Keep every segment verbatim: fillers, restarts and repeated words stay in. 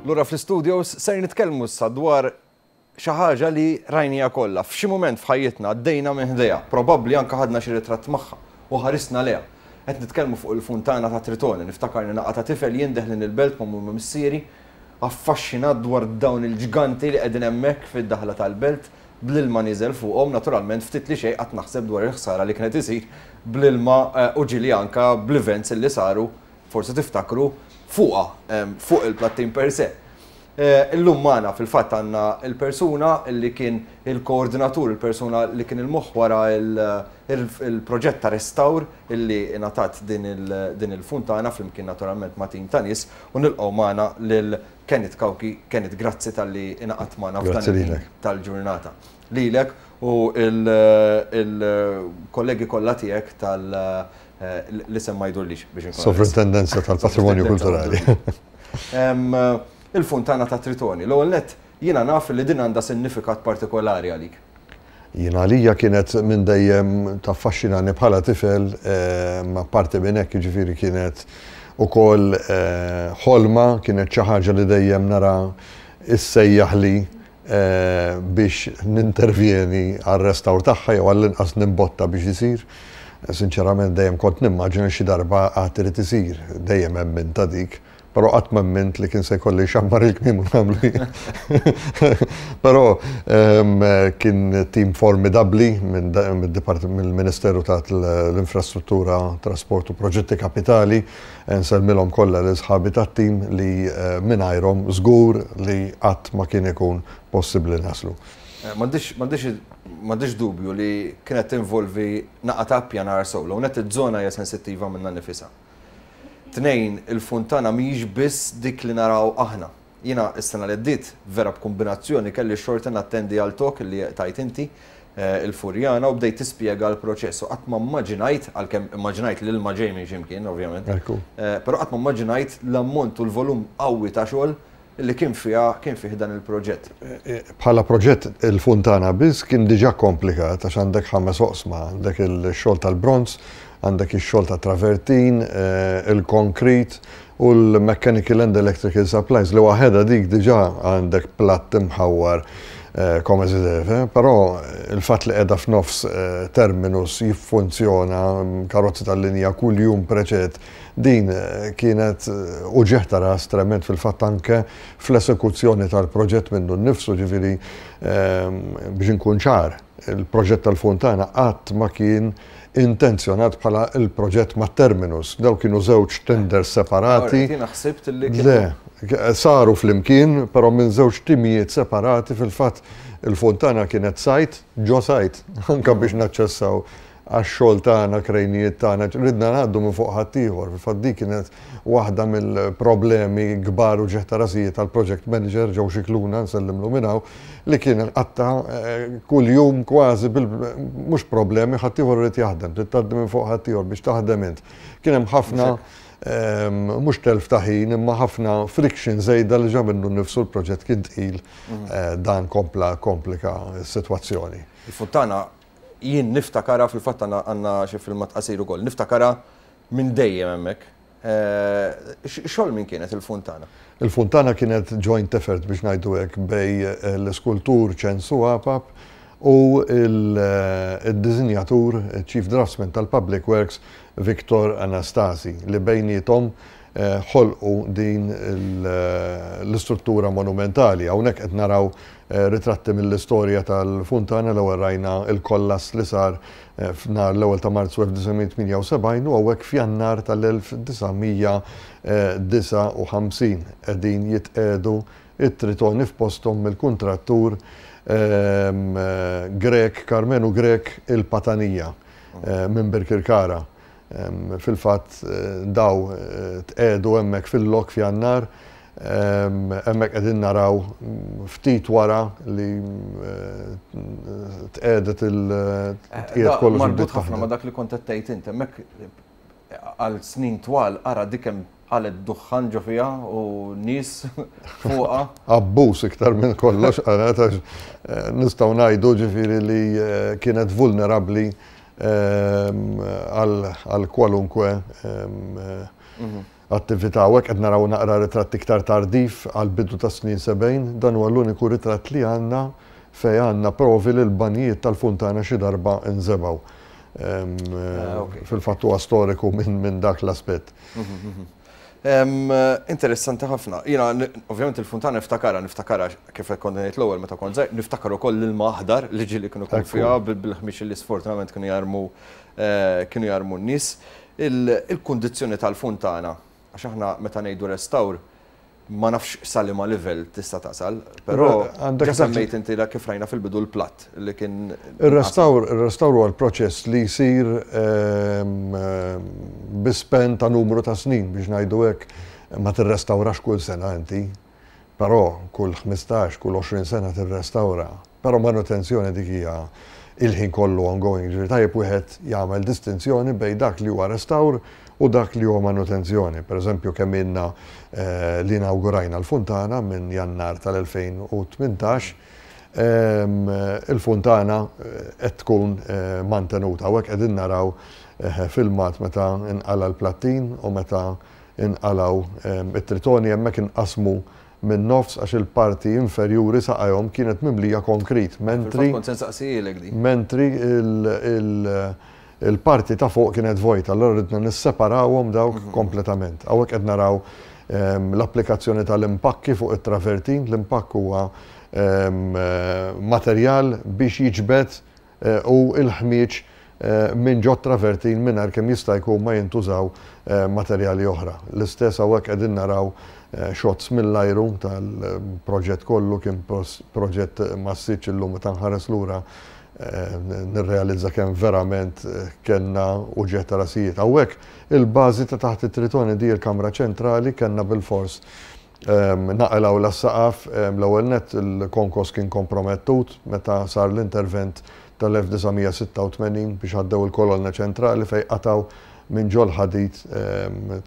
Lura fl-studios ser nitkellmu issa dwar xi ħaġa li rajnieha kollha. F'xi mument f'ħajjitna għaddejna minn ħdejha, probabbli anke ħadna xi ritratt magħha u ħarisna lejha. Qed nitkellmu fuq il-funtana ta' Tritoni. Niftakar naqa ta' tifel jien deħlin il-belt ma' mumma missieri, affaxxinat dwar dawn il-ġganti li qegħdin hemmhekk fid-daħla tal-belt bl-ilma niżel fuqhom. Naturalment, ftit li xejn qatt naħseb dwar il-ħsara li kienet isir bl-ilma eh, u ġieli anka bl-events li saru, forsi tiftakru, fuqha, fuq il-plattin per se. Eh, illum magħna fil-fatt għandna il-persuna li kien il-koordinatur, il-persuna li kien il-moħħ wara il-proġett ta' restawr illi ingħatat din il-funtana flimkien naturalment ma' tim ta' nies, u nilqgħu magħna lil Kenneth Cauchi. Kenneth, grazzi talli ingħaqadt magħna f'dan tal-ġurnata. Lilek u il-kollegi kollha tiegħek tal- eh, l-isem ma jdurlix biex nkun. Sovrintendenza tal-Patrimonju Kulturali. Il-funtana ta' Tritoni. L-ewwel nett, jiena naf li din għandha sinifikat partikolari għalik. Jiena għalija kienet minn dejjem taffaxxinani bħala tifel, eh, ma parti minn hekk, jiġifieri, kienet ukoll eh, ħolma, kienet xi ħaġa li dejjem nara issejjaħ li eh, biex nintervjeni għal-restawr tagħha jew għall-inqas nimbotta biex isir. Sinċerament, dejjem kont nimmaġina xi darba għad irid isir, dejjem hemm minn ta' dik, però qatt ma emmint li kien se jkolli xammar il-kmiem u nagħmlu. Però kien tim formidabbli minn mill-Ministeru tal-Infrastruttura, Trasport u Proġetti Kapitali. Nsellmilhom kollha l sħabi tat-tim li eh, mingħajrhom żgur li qatt ma kien ikun possibbli naslu. Eh, m'għandix dubju li kienet tinvolvi naqa ta' pjanar sewwa. Net iż-żona hija sensittiva minnha nifisha. Tnejn, il-funtana mhijiex biss dik li naraw aħna. Jiena is-sena li għaddiet, vera b'kombinazzjoni, kelli xorta nattendi għal talk li tajt inti eh, il-Furjana u bdejt tispjega l-proċess. U qatt ma immaġinajt, għalkemm immaġinajt li l-ilma ġej minn ximkien, ovvjament. Eh, però qatt ma immaġinajt l-ammont u l-volum qawwi ta' xogħol li kien fiha kien fih dan il-proġett. Eh, bħala proġett, il-funtana biss kien diġà komplikat għax għandek ħames oqsma, għandek il-xogħol tal-bronz, għandek ix-xogħol ta' travertin, eh, il-konkrit u l-mechanical and electrical supplies, li waħedha dik diġà għandek platt imħawwar eh, come si deve, però il-fatt li qiegħda f'nofs eh, terminus jiffunzjona, karozzi tal-linja kull jum preċet, din kienet uġigħ ta' ras trement fil-fatt anke fl-esekuzzjoni tal-proġett minnu nnifsu. Ġifieri, biex inkun ċar, il-proġett tal-funtana qatt ma kien intenzjonat bħala il-proġett ma' terminus. Daw kienu żewġ tenders separati. Le, saru flimkien, però minn żewġ timijiet separati. Fil-fatt, il-fontana kienet site, ġo site, anka biex naċċessaw għax-xogħol tagħna, krejnijiet tagħna, ridna ngħaddu minn fuq ħaddieħor. Fil-fatt, dik kienet waħda mill-problemi kbar u uġigħ ta' rasijiet tal-project manager Joe Xikluna, nsellimlu minn hawn, li kien qatta eh, kull jum kważi bil mhux problemi, ħaddieħor irid jaħdem, tgħaddi minn fuq ħaddieħor biex taħdem int. Kien hemm ħafna ehm, mhux telf ta' ħin, imma ħafna friction żejda li ġa minnu nnifsu l-proġett kien tqil, mhm. eh, dan kompla komplika s-sitwazzjoni. Il-funtana jien niftakarha, fil-fatt għandna xi filmat qasir ukoll, niftakarha minn dejjem hemmhekk. Eh, xogħol min kienet il-funtana? Il-funtana kienet joint effort, biex ngħidu hekk, bejn eh, l-iskultur Ċensu Apap u il-dizinjatur, Chief Draftsman tal-Public Works, Victor Anastasi, li bejniethom eh, ħolqu din l-istruttura monumentali. Hawnhekk qed naraw Eh, ritratti mill-istorja tal-funtana. L-ewwel rajna il-kollass li sar eh, f'nar l-ewwel ta' Marzu elf disa' mija tmienja u sebgħin u hawnhekk f'Jannar tal-elf disa' mija disgħa u ħamsin qegħdin jitqiegħdu it-tritoni f'posthom mill-kuntrattur ehm, Grek, Karmenu Grek il-Patanija eh, minn Birkirkara. Ehm, fil-fatt, daw tqiegħdu hemmhekk fil-lok f'Jannar. Hemmhekk qegħdin naraw ftit wara li eh, tqiegħdet il-tqiegħed eh, kollox. Marbut ħafna ma' dak li kont qed tgħid int, hemmhekk għal snin twal ara dik hemm għalet duħħan ġo fiha u nies fuqha. Abbuż iktar minn kollox, għalet, eh, nistgħu ngħidu, ġifieri, li kienet vulnerabbli għal kwalunkwe mhm. Attività u hekk qed naraw naqra ritratt iktar tardif għal bidu ta' snin sebgħin. Dan huwa l-uniku ritratt li għandna fej għandna provi li l-banjijiet tal-funtana xi darba nżebgħu. Ah, Fil-fatt huwa storiku minn min dak l-aspett. Interessanti ħafna. Jiena, ovvjament, il-funtana niftakara, niftakara kif kont ngħid l-ewwel meta kont żgħir, niftakar ukoll l-ilma aħdar li ġieli kienu kun fiha bil-ħmieġ li sfortunatament kienu jarmu eh, kienu jarmu n-nies. Il-kundizzjoni tal-funtana, għax aħna meta ngħidu restawr, ma nafx sa liema level tista' tasal, però għandek semmejt inti kif rajna fil-bidu l-platt li kien. Ir-restawr, ir-restawr huwa l-proċess li jsir ehm, ehm, bi span ta' numru ta' snin, biex ngħidu hekk. Ma tirrestawrax kull sena inti, però kull ħmistax, kull għoxrin sena tirrestawra. Però manutenzjoni dik hija il-ħin kollu ongoing, ġifieri tajjeb wieħed jagħmel distinzjoni bejn dak li huwa restawr u dak li huwa manutenzjoni. Per eżempju, kemm ilna eh, li inaugurajna l-funtana, minn Jannar tal-elfejn u tmintax, il-funtana eh, qed tkun eh, mantenuta. U hekk qegħdin naraw filmat meta inqala l-plattin u meta inqalaw it-tritoni. Hemmhekk inqasmu minn nofs għax il-parti inferjuri saqajhom kienet mimlija konkrit. Mentri Mentri il-parti ta' fuq kienet vojta, allora ridna nisseparawhom dawk mhm. kompletament. Hawnhekk qed naraw ehm, l-applikazzjoni tal-impakki fuq it-travertin. L-impakk huwa ehm, materjal biex jiġbed eh, u il-ħmieġ eh, minn ġo travertin mingħajr kemm jista' jkun ma jintużaw eh, materjali oħra. L-istess hawnhekk qegħdin naraw shots mill-ajru tal-proġett kollu. Kien proġett massiċ. Illum meta nħares lura nirrealizza kemm verament eh, kellna uġigħ ta' rasijiet. Hawnhekk il-bażi ta' taħt it-tritoni, di il-kamra ċentrali, kellna bil-fors naqilgħu s-saqaf. L-ewwel net il-konkos kien kompromettut meta sar l-intervent tal-elf disa' mija sitta u tmenin biex għaddew il-kolonna ċentrali fej qataw minn ġol ħadid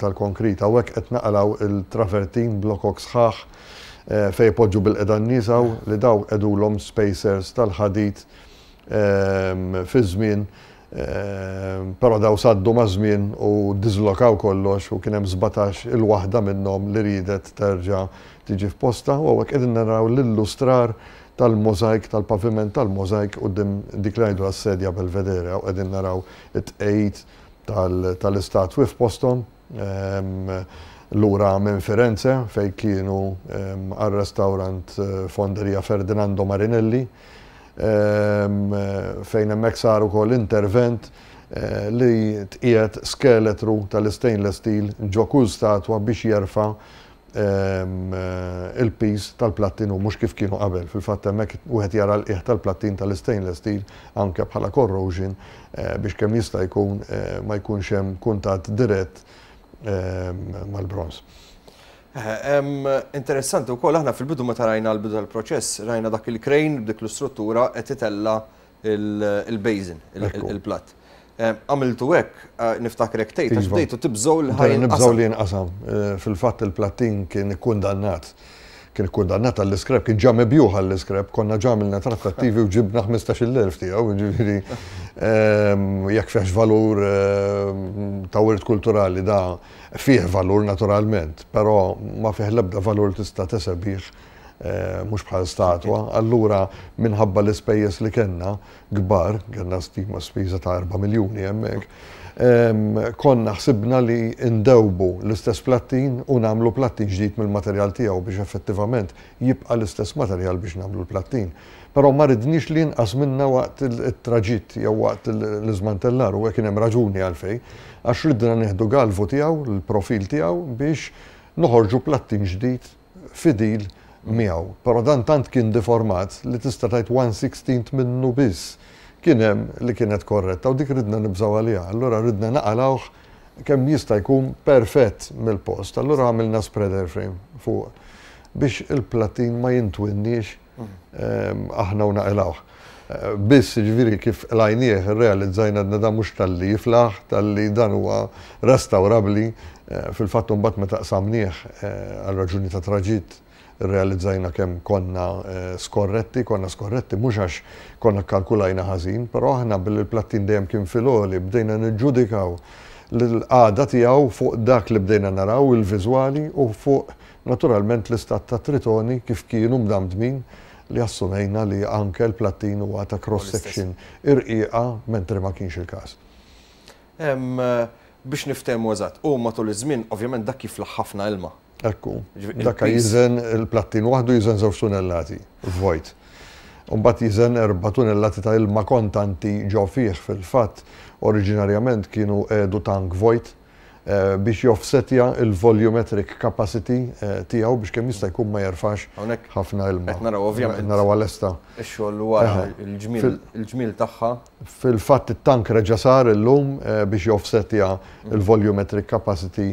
tal-konkrit. Hawnhekk qed naqilgħu il-travertin, blokok sħaħ eh, fej poġġu bilqiegħda n-nies li daw qegħdulhom spacers tal-ħadid fi żmien, però daw saddu ma' żmien u dislokaw kollox u kien hemm sbatax il-waħda minnhom li ridet terġa' tiġi f'posta. U hawnhekk qegħdin naraw l-illustrar tal-mozaik, tal-paviment tal-mozaik quddiem dik li ngħidu għas-sedja Belvedere, u qegħdin naraw it-tqejt tal-istatwi f'posthom lura minn Firenze fej kienu għal-restaurant eh, Fonderia Ferdinando Marinelli, fejn hemmhekk sar ukoll intervent eh, li tqiegħed skeletru tal-stainless steel ġo kull statwa biex jerfa eh, il-piż tal-plattin u mhux kif kienu qabel. Fil-fatt hemmhekk wieħed jara l-qiegħ tal-plattin tal-stainless steel anke bħala corrosion eh, biex kemm jista' jkun ma jkunx hemm kuntatt dirett mal-bronz. Interessanti wkoll, aħna fil-bidu meta rajna l-bidu tal-proċess, rajna dak il-crane b'dik l-istruttura qed itella il-basin, il-platt. Għamiltu hekk, eh, niftakrek tgħid, għax iva. bdejtu tibżgħu li ħa Nibżgħu li jinqasam. Eh, fil-fatt il-plattin kien ikkundannat. Kien ikkundannat għall-scrap, kien ġa mibjugħ għall-scrap, konna ġa għamilna trattattivi u ġibna ħmistax-il elf tiegħu, ġifieri jekk fihx valur ta' wirt kulturali, da fih valur naturalment, però ma fih l-ebda valur tista' tesebih, eh, mhux bħal statwa. Allura minħabba l-ispejjeż li kellna kbar, kellna stima spiża ta' erba' miljuni hemmhekk, konna ħsibna li ndewbu l-istess plattin u nagħmlu plattin ġdid mill-materjal tiegħu biex effettivament jibqa' l-istess materjal biex nagħmlu l-plattin. Però ma ridniex li jinqas minna waqt il-traġitt jew waqt l-iżmantellar, u kien hemm raġuni għalfej, għax ridna nieħdu galvu tiegħu, l-profil tiegħu, biex noħorġu plattin ġdid fidil miegħu. Però dan tant kien deformat li tista' tgħid one sixteenth minnu biss kien hemm li kienet korretta u dik ridna nibżgħu għaliha. Allura ridna naqalgħuh kemm jista' jkun perfett mill-post. Allura għamilna spreader frame fuq biex il-plattin ma jintwinniex aħna u naqilgħuh. Eh, biss ġifieri kif qlajnieh realizzajna da mhux talli jiflaħ, talli dan huwa restawrabli. Eh, fil-fatt mbagħad meta qsamnieh eh, għal raġuni ta' traġitt realizzajna kemm konna skorretti. Konna skorretti mhux għax konna kalkulajna ħażin, però aħna billi l-plattin dejjem kien fil-għoli bdejna niġġudikaw l-qagħda tiegħu fuq dak li bdejna naraw, il-viżwali, u fuq naturalment l-istat ta' tritoni kif kienu mdamdmin, li assumejna li anke l-plattin huwa ta' cross-section irqiqa, mentri ma kienx il-każ. Biex niftehmu eżatt, u matul iż-żmien ovvjament dak jiflaħ ħafna ilma. Ekku, dak jiżen, il-plattin waħdu jiżen żewġ tunellati, vojt. Mbagħad jiżen erba' tunellati ta' ilma kontanti ġo fih. Fil-fatt, oriġinarjament kienu qiegħdu tank vojt biex joffsetja il-volumetric capacity tiegħu biex kemm jista' jkun ma jerfax ħafna ilma. Qed naraw ovvjament. Naraw għal-esta. Ix-xogħol wara il-ġmiel tagħha. Fil-fatt it-tank reġa' sar illum biex joffsetja il-volumetric capacity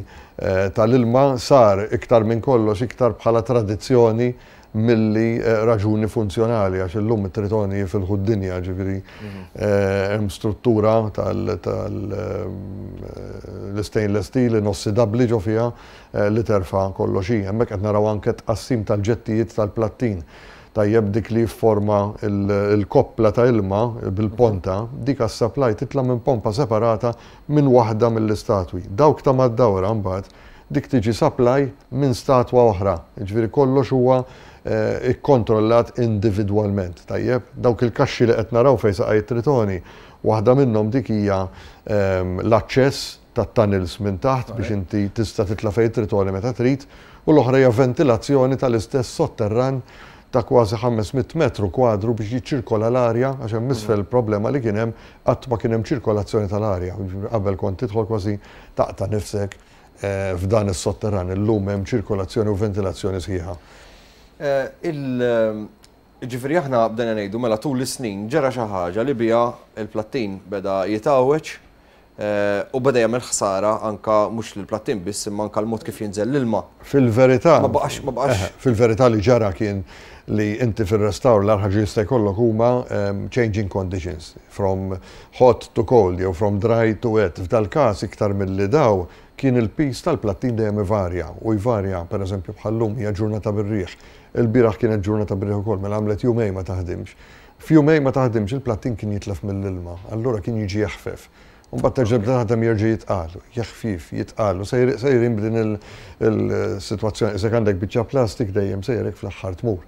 tal-ilma, sar iktar minn kollox iktar bħala tradizzjoni milli raġuni funzjonali, għax illum it-tritoni fil dinja, ġifieri hemm struttura tal-stainless steel inossidabbli ġo fiha li terfa' kollox. Hemmhekk qed naraw anke tqassim tal-ġettijiet tal-plattin. Tajjeb, dik li forma il-koppla ta' ilma bil-ponta, dik għas-supply titla' minn pompa separata minn waħda mill-istatwi. Dawk ta' mad-dawra mbagħad dik tiġi supply minn statwa oħra. Ġifieri kollox huwa ikkontrollat individwalment. Tajjeb, dawk il-kaxxi li qed naraw fejn saqaj tritoni, waħda minnhom dik hija l-aċċess tat-tunnels minn taħt biex inti tista' titla' fejn tritoni meta trid, u l-oħra hija ventilazzjoni tal-istess sotterran ta' kważi ħames mitt metru kwadru biex jiċċirkola l-arja, għax hemm isfel problema li kien hemm, qatt ma kien hemm ċirkolazzjoni tal-arja. Qabel kont tidħol kważi taqta' nifsek f'dan is-sotterran, illum hemm ċirkolazzjoni u ventilazzjoni sħiħa. Ġifieri aħna bdejna ngħidu mela tul is-snin ġara xi ħaġa li biha il-plattin beda jitgħawweġ u beda jagħmel ħsara anka mhux lill-plattin biss imma anka l-mod kif jinżel l-ilma. Fil-verità, Ma baqax, ma baqax. Fil-verità li ġara kien li inti fil-restawr l-ħaġa jista' jkollok huma changing conditions from hot to cold jew from dry to wet. F'dal każ iktar milli daw kien il-pis tal-plattin dejjem ivarja u jvarja, pereżempju bħal-lum hija ġurnata bir-riħ. Il-bieraħ kienet ġurnata bir-riħ ukoll, mela għamlet jumej ma taħdimx. F'jumej ma taħdimx il-plattin kien jitlef mill-ilma, allura kien jiġi jeħfef. U mbagħad terġa' bda taħdem jerġa' jitqal, jeħfif, jitqal, u sejrin b'din il-sitwazzjoni, isek għandek biċċa plastik dejjem sejrek fl-aħħar tmur.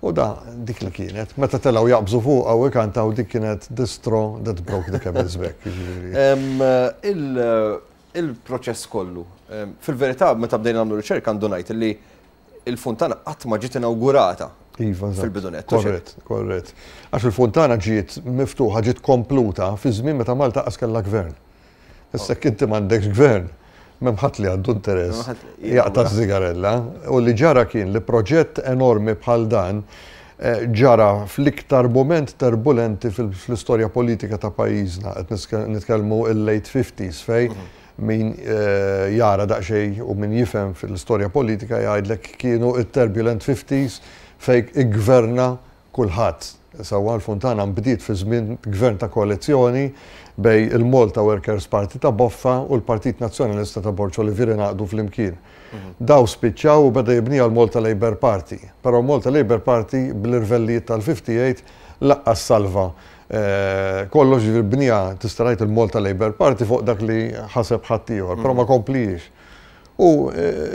U da dik li kienet, meta telgħu jaqbżu fuq u ikantaw, dik kienet the straw that broke the camel's back. Il-proċess kollu. Fil-verità, meta bdejna nagħmlu riċerka għandu ngħid li il-funtana qatt ma ġiet inawgurata. Iva, eżatt. Fil-bidunet. Korrett, korrett. Għax il-funtana ġiet miftuħa, ġiet kompluta fi żmien meta Malta qas kellha gvern. Issa jekk inti m'għandekx gvern, m'hemm ħadd li għandu interess M'hemm ħadd li jaqta' żigarella. U li ġara kien li proġett enormi bħal dan ġara fl-iktar moment turbulenti fl-istorja politika ta' pajjiżna. Qed nitkellmu il-late fifties fej min jara daqsxejn u min jifhem fil-istorja politika jgħidlek kienu it-turbulent fifties fej iggverna kulħadd. Sewwa, l-funtana nbdiet fi żmien gvern ta' koalizzjoni bej il-Malta Workers' Party ta' Boffa u l-Partit Nazzjonalista ta' Borg Olivier ngħaqdu flimkien. Daw spiċċaw u beda jibnija l-Malta Labour Party. Però Malta Labour Party bl-irvellijiet tal-fifty-eight laqqas salva. Kollox ġifieri bnija tista' tgħid il-Malta Labour Party fuq dak li ħaseb ħaddieħor, però ma komplix. U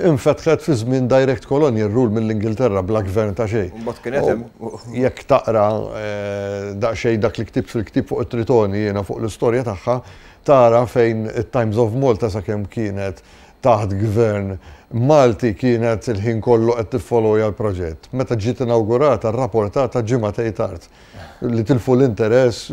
infetħet fi żmien direct colonial rule mill-Ingilterra bla gvern ta' xejn. Mbagħad kien hemm. Jekk taqra daqsxejn dak li ktibt fil-ktieb fuq it-Tritoni jiena fuq l-istorja tagħha, tara fejn it-Times of Malta sakemm kienet taħt gvern Malti kienet il-ħin kollu qed tiffollowja l-proġett. Meta ġiet inawgurata, rrapportata ġimgħatej tard. Li tilfu l-interess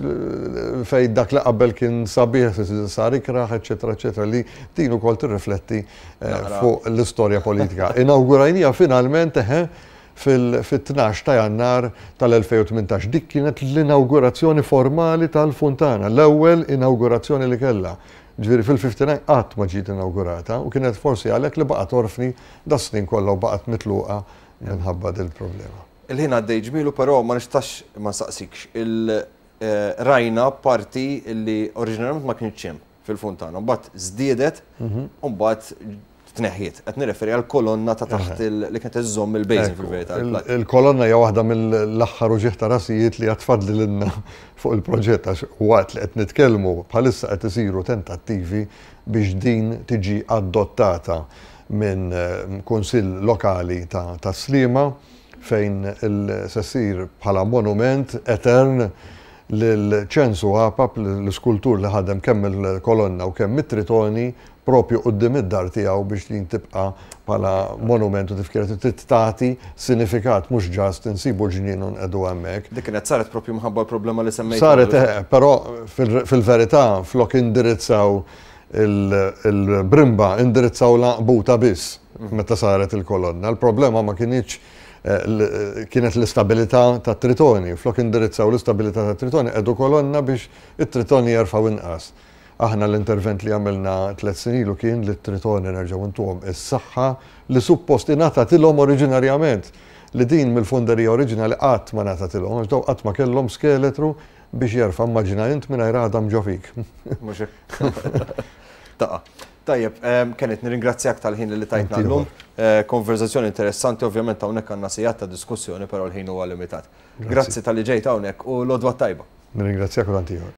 fejn dak li qabel kien sabiħ sar ikraħ, eċetera, eċetera, li din ukoll tirrifletti fuq l-istorja politika. Inawgurajnija finalment eħe fil-tnax ta' Jannar tal-elfejn u tmintax. Dik kienet l-inawgurazzjoni formali tal-Funtana, l-ewwel inawgurazzjoni li kellha. Ġifieri fil-fifty-nine qatt ma ġiet inawgurata u kienet forsi għalhekk li baqgħet orfni das-snin kollha u baqgħet mitluqa minħabba dil problema. Il-ħin għaddej ġmielu, però ma nistax ma nsaqsikx. Il-rajna parti li oriġinarjament ma kienx hemm fil-Funtana, mbagħad żdiedet, Mhm. u mbagħad tneħħiet. Qed nirreferi għal kolonna ta' taħt li kienet iżżomm il-basin fil-verità. Il-kolonna hija waħda mill-aħħar uġigħ ta' rasijiet li għad fadlilna fuq il-proġett, għax waqt li qed nitkellmu bħalissa qed isiru tentattivi biex din tiġi adottata minn eh, kunsill lokali ta' Sliema, fejn se ssir bħala monument etern lil Ċensu Apap, l-iskultur li ħadem kemm il-kolonna u kemm it-tritoni, propju quddiem id-dar tiegħu, biex din tibqa' bħala monument u tifkira, trid tagħti sinifikat, mhux just insibu ġnien u nqegħdu hemmhekk. Dik kienet saret propju minħabba l-problema li semmejt. Saret, eh, però fil-verità flok indirizzaw il-brimba, indirizzaw l-għanqbuta biss meta saret il-kolonna. Il-problema ma kinitx eh, kienet l-istabilità ta' tritoni. Flok indirizzaw l-istabilità ta' tritoni, qiegħdu kolonna biex it-tritoni jerfgħu inqas. Aħna l-intervent li għamilna tliet snin ilu kien li t-tritoni nerġgħu ntuhom is-saħħa li suppost ingħatatilhom oriġinarjament, li din mill-funderija oriġinali qatt ma ngħatatilhom, għax daw qatt ma kellhom skeletru biex jerfa'. Immaġina int mingħajr għadam ġo fik. Taqa'. Tajjeb, Kenneth, nirringrazzjak tal-ħin li tajtna llum. Eh, konverzazzjoni interessanti, ovvjament hawnhekk għandna sigħat ta' diskussjoni, però l-ħin huwa limitat. Grazzi talli ġejt hawnhekk u l-għodwa t-tajba. Nirringrazzjak u tant ieħor.